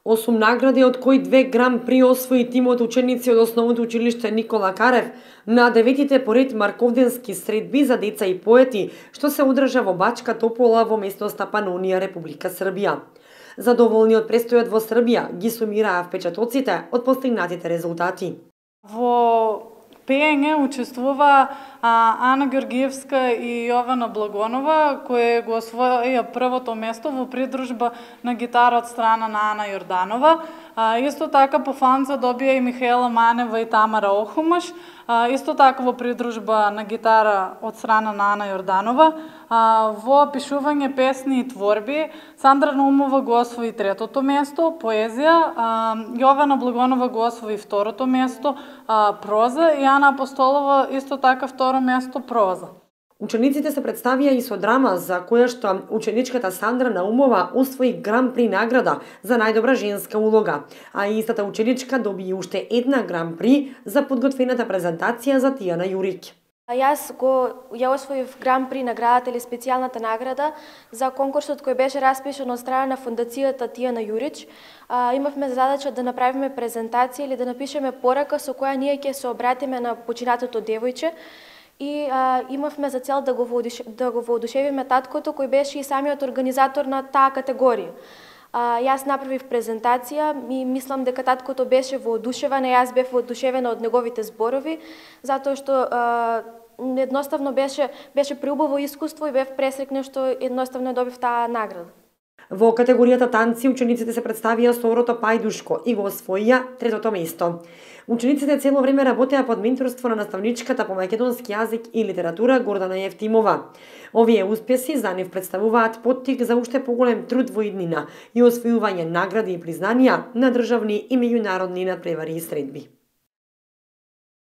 8 награди, од кои 2 гран-при освои тимот ученици од Основното училиште Никола Карев на 9-тите поред марковденски средби за деца и поети, што се одржа во Бачка Топола во местноста Панонија, Република Србија. Задоволни од престојот во Србија ги сумираа впечатоците од постигнатите резултати. Во пеење учествува Ана Георгиевска и Јована Благонова, кои го освоија првото место во придружба на гитара од страна на Ана Јорданова. Исто така по фанца добија и Михаела Манева и Тамара Охумаш. Исто така во придружба на гитара од страна на Ана Јорданова. Во пишување песни и творби Сандра Наумова го освои третото место, поезија, Јована Благонова го освои второто место, проза, и Ана Апостолова исто така второ место, проза. Учениците се представија и со драма, за која што ученичката Сандра Наумова освои гран-при награда за најдобра женска улога, а истата ученичка доби уште една гран-при за подготвената презентација за Тијана Јурик. Ја освоив гран-при наградата или специјалната награда за конкурсот кој беше распишан од страна на фондацијата Тијана Јурич. Имавме задача да направиме презентација или да напишеме порака со која ние ќе се обратиме на починатото девојче, и имавме за цел да го воодушевиме таткото кој беше и самиот организатор на таа категорија. Јас направив презентација и мислам дека таткото беше воодушевен, јас бев воодушевена од неговите зборови, затоа што едноставно беше преубаво искуство и бев пресрекна што едноставно добив таа награда. Во категоријата танци учениците се представија со орото Пајдушко и го освоија третото место. Учениците цело време работеа под менторство на наставничката по македонски јазик и литература Гордана Јевтимова. Овие успеси за нив представуваат поттик за уште поголем труд во иднина и освојување награди и признанија на државни и меѓународни надпревари и средби.